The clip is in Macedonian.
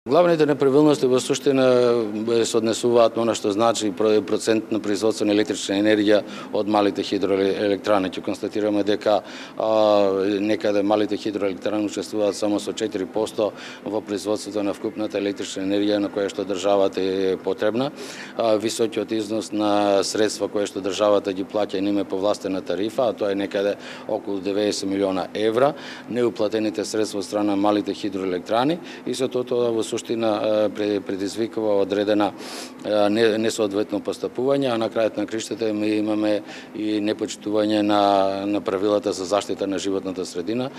Главните неправилности во суштина се однесуваат на она што значи процент на производство на електрична енергија од малите хидроелектрани. Ќе констатираме дека некаде малите хидроелектрани учествуваат само со 4% во производството на вкупната електрична енергија на која што државата е потребна. Високиот износ на средства кои што државата ги плаќа и нема повластена тарифа, а тоа е некаде околу 90 милиона евра, неуплатените средства од страна на малите хидроелектрани и со тоа во суштина предизвикува одредена несоодветно постапување, а на крајот на криштата ми имаме и непочитување на правилата за заштита на животната средина.